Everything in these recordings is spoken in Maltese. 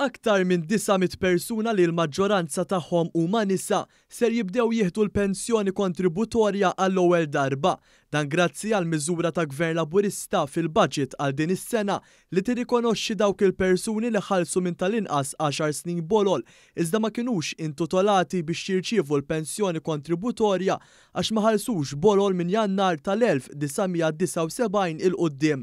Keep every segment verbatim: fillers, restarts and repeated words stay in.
Aktar minn disa' mitt persuna li l-maġġoranza tagħhom huma nisa ser jibdew jieħdu l-pensjoni kontributorja għall-ewwel darba. Dan grazzi għal miżura ta' Gvern Laburista fil-budget għal din is-sena li tirrikonoxxi dawk il-persuni li ħallsu minn tal-inqas għaxar snin bolol iżda ma kinux intitolati biex jirċievu l-pensjoni kontributorja għax ma ħallsux bolol minn Jannar tal-elf disa' mija disgħa u sebgħin 'il quddiem.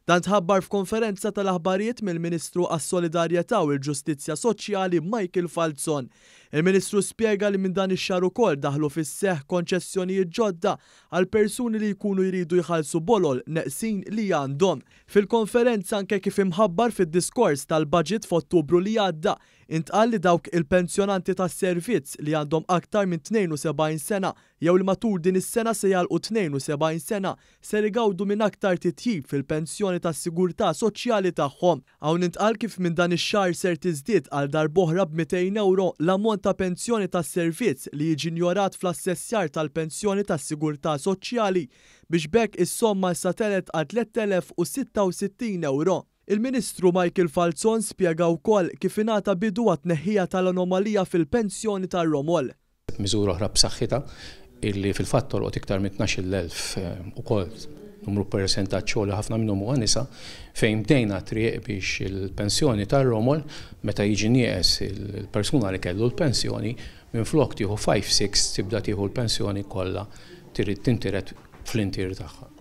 Dan tħabbar f'konferenza tal-aħbarijiet mill-Ministru għas-Solidarjetà u l-Ġustizzja Soċjali Michael Falzon. Il-Ministru spjega li minn dan ix-xahar ukoll daħlu fis-seħħ konċessjonijiet ġodda għal persuni li jkunu jridu jħallsu bolol neqsin li għandhom. Fil-konferenza anke kif imħabbar fid-diskors tal-budget f'Ottubru li għadda, intqal li dawk il-pensjonanti tas-servizz li għandhom aktar minn tnejn u sebgħin sena jew li matul din is-sena se jagħlqu tnejn u sebgħin sena ser igawdu minn aktar titjib fil-pensjoni tas-sigurtà soċjali tagħhom. Hawn intqal kif minn dan ix-xahar ser tiżdied għal darb'oħra b'mitejn euro l-ammont ta' pensjoni tas-servizz li jiġi injorat fl-assessjar tal-pensjoni tas-sigurtà soċjali biex b'hekk is-somma issa telet għal tliet elef u sitta u sittin euro. Il-Ministru Michael Falzon spjega wkoll kif ingħata bidu għat-tneħħija tal-anomalija fil-pensjoni tar-romol. Miżura oħra b'saħħitha illi fil-fatt tolqot iktar minn tnax-il elf, eh, ukoll numru percentaġġ li ħafna minnhom huwa nisa, fejn bdejna triq biex il-pensjoni tar-romol meta jiġi nieqes il-persuna li kellu l-pensjoni minflok tieħu five six tibda tieħu l-pensjoni kollha trid tintiret fl-intier tagħha.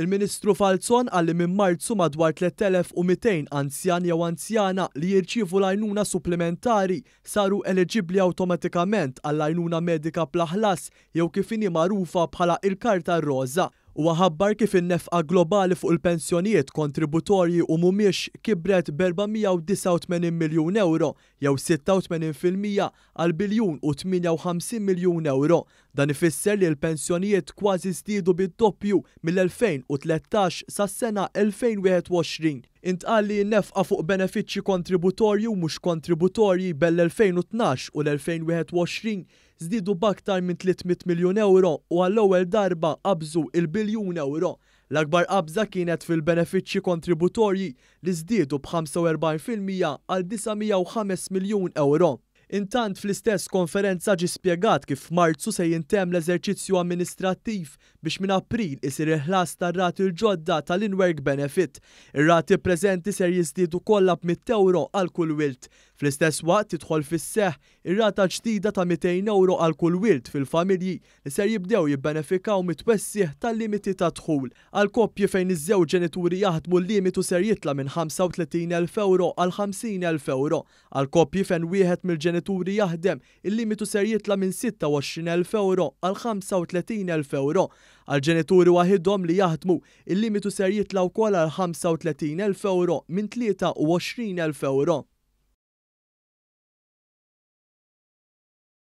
Il-Ministru Falzon qal li minn Marzu madwar tliet elef u mitejn anzjan jew anzjana li jirċievu l-għajnuna supplementari saru eliġibbli awtomatikament għall-għajnuna medika bla ħlas jew kif inhi magħrufa bħala il-Karta Roża. Huwa ħabbar kif in-nefqa globali fuq il-pensjonijiet kontributorji u mhumiex kibret b'erba' mija u disgħa u tmenin miljun euro jew sitta u tmenin fil-mija għal biljun u tmienja u ħamsin miljun euro. Dan ifisser li l-pensjonijiet kważi żdiedu bid-doppju mill-elfejn u tlettax sas-sena elfejn wieħed u għoxrin. Intqal li n-nefqa fuq benefiċċji kontributorji u mhux kontributorji bel-elfejn u tnax u l-elfejn wieħed u għoxrin żdiedu b'aktar minn tliet mitt miljun euro u għall-ewwel darba qabżu il-biljun euro. L-akbar qabża kienet fil-benefiċċji kontributorji li żdiedu b'ħamsa u erbgħin fil-mija għal disa' mija u ħames miljun euro. Intant fl-istess konferenza ġie spjegat kif f'Marzu se jintemm l-eżerċizzju amministrattiv biex minn April isir il-ħlas tar-rati l-ġodda tal-in-work benefit. Ir-rati preżenti ser jiżdiedu kollha b'mitt euro għal kull wild. Fl-istess waqt tidħol fis-seħħ ir-rata ġdida ta' mitejn euro għal kull wild fil-familji li ser jibdew jibbenefikaw mit-twessiħ tal-limiti ta' dħul. Għal koppji fejn iż-żewġ ġenituri jaħdmu l-limitu ser jitla' minn ħamsa u tletin elf euro għal ħamsin elf euro. Għal koppji fejn wieħed mill-ġenituri jaħdem, il-limitu ser jitla' minn sitta u għoxrin elf euro għal ħamsa u tletin elf euro. Għal ġenituri waħidhom li jaħdmu, il-limitu ser jitla' wkoll għal ħamsa u tletin elf euro minn tlieta u għoxrin elf euro.